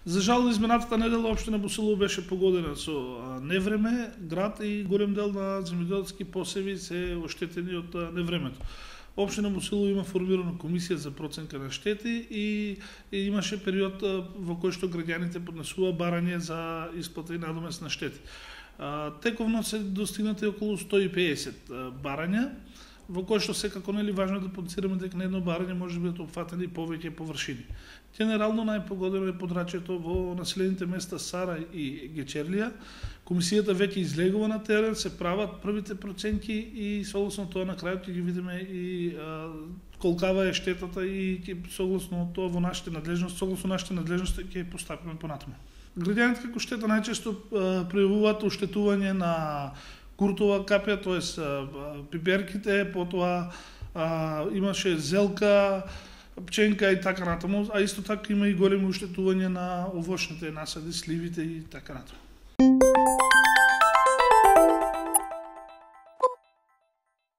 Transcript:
За жал, изминатата недела општина Босилово беше погодена со невреме, град и голем дел на земјоделски посеви се оштетени од невремето. Општина Босилово има формирана комисија за проценка на штети и имаше период во кој што граѓаните поднесува барање за исплата и надомест на штети. Тековно се достигнати околу 150 барања, во кој што секако нели важно да подцираме дека на едно барање може да бидат опфатени повеќе површини. Генерално најпогодено е подрачјето во населените места Сара и Гечерлија. Комисијата веќе излегува на терен, се прават првите проценки и согласно тоа на крајот ќе ги видиме и колкава е штетата и согласно тоа во нашите надлежности, согласно нашите надлежности ќе постапиме понатаму. Граѓаните како штета најчесто пројавуваат оштетување на куртова капја, тоест пиперките, потоа имаше зелка, пченка и така натаму, а исто така има и големи оштетување на овошните насади, сливите и така натаму.